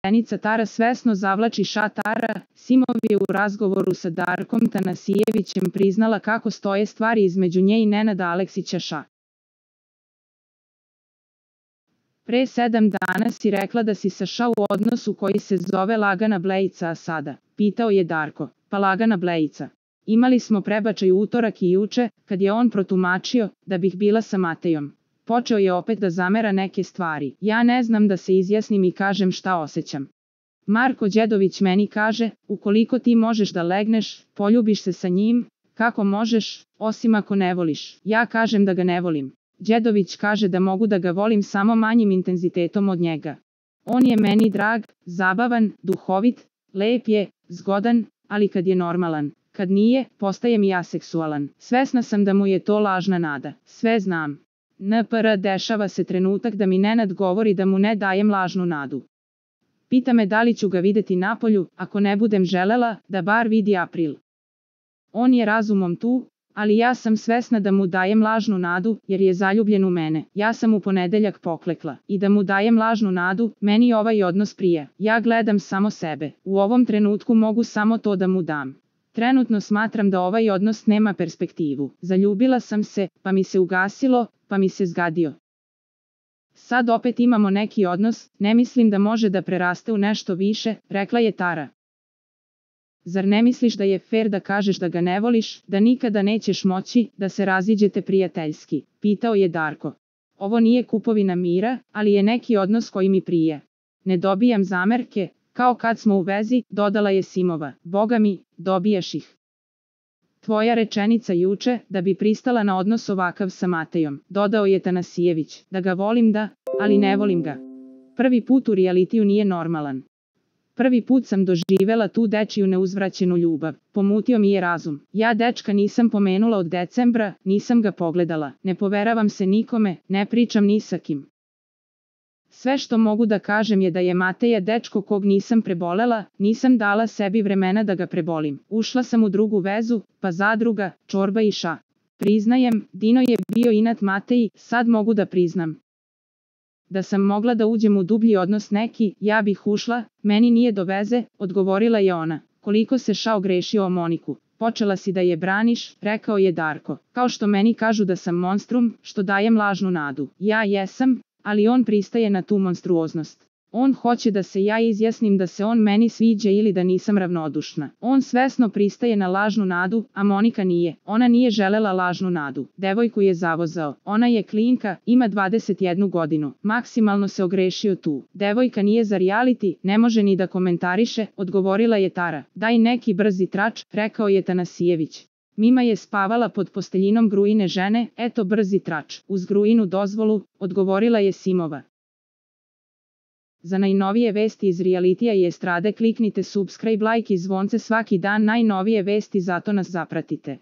rečenica Tara svesno zavlači Tara. Simov je u razgovoru sa Darkom Tanasijevićem priznala kako stoje stvari između nje i Nenada Aleksića. Pre 7 dana si rekla da si sa u odnosu koji se zove Lagana Blejica, a sada, pitao je Darko, pa Lagana Blejica. Imali smo prebačaj utorak i juče, kad je on protumačio da bih bila sa Matejom. Počeo je opet da zamera neke stvari. Ja ne znam da se izjasnim i kažem šta osjećam. Marko Đedović meni kaže, ukoliko ti možeš da legneš, poljubiš se sa njim, kako možeš, osim ako ne voliš. Ja kažem da ga ne volim. Đedović kaže da mogu da ga volim samo manjim intenzitetom od njega. On je meni drag, zabavan, duhovit, lep je, zgodan, ali kad je normalan. Kad nije, postaje mi aseksualan. Svesna sam da mu je to lažna nada. Sve znam. NPR dešava se trenutak da mi Nenad govori da mu ne dajem lažnu nadu. Pita me da li ću ga videti napolju, ako ne budem želela, da bar vidi April. On je razumom tu, ali ja sam svesna da mu dajem lažnu nadu, jer je zaljubljen u mene. Ja sam u ponedeljak poklekla. I da mu dajem lažnu nadu, meni ovaj odnos prija. Ja gledam samo sebe. U ovom trenutku mogu samo to da mu dam. Trenutno smatram da ovaj odnos nema perspektivu. Zaljubila sam se, pa mi se ugasilo, pa mi se zgadio. Sad opet imamo neki odnos, ne mislim da može da preraste u nešto više, rekla je Tara. Zar ne misliš da je fer da kažeš da ga ne voliš, da nikada nećeš moći, da se raziđete prijateljski, pitao je Darko. Ovo nije kupovina mira, ali je neki odnos koji mi prije. Ne dobijam zamerke, kao kad smo u vezi, dodala je Simova. Boga mi, dobijaš ih. Tvoja rečenica juče, da bi pristala na odnos ovakav sa Matejom, dodao je Tanasijević. Da ga volim da, ali ne volim ga. Prvi put u realitiju nije normalan. Prvi put sam doživela tu dečiju neuzvraćenu ljubav. Pomutio mi je razum. Ja dečka nisam pomenula od decembra, nisam ga pogledala. Ne poveravam se nikome, ne pričam ni sa kim. Sve što mogu da kažem je da je Mateja dečko kog nisam prebolela, nisam dala sebi vremena da ga prebolim. Ušla sam u drugu vezu, pa zadruga, čorba i Priznajem, Dino je bio inat Mateji, sad mogu da priznam. Da sam mogla da uđem u dublji odnos neki, ja bih ušla, meni nije do veze, odgovorila je ona. Koliko se ogrešio o Moniku. Počela si da je braniš, rekao je Darko. Kao što meni kažu da sam monstrum, što dajem lažnu nadu. Ja jesam, ali on pristaje na tu monstruoznost. On hoće da se ja izjasnim da se on meni sviđa ili da nisam ravnodušna. On svesno pristaje na lažnu nadu, a Monika nije. Ona nije želela lažnu nadu. Devojku je zavozao. Ona je klinka, ima 21 godinu. Maksimalno se ogrešio tu. Devojka nije za reality, ne može ni da komentariše, odgovorila je Tara. Daj neki brzi trač, rekao je Tanasijević. Mima je spavala pod posteljinom Gruine žene, eto brzi trač. Uz Gruinu dozvolu, odgovorila je Simova. Za najnovije vesti iz realitija i estrade kliknite subscribe, like i zvonce svaki dan, najnovije vesti, zato nas zapratite.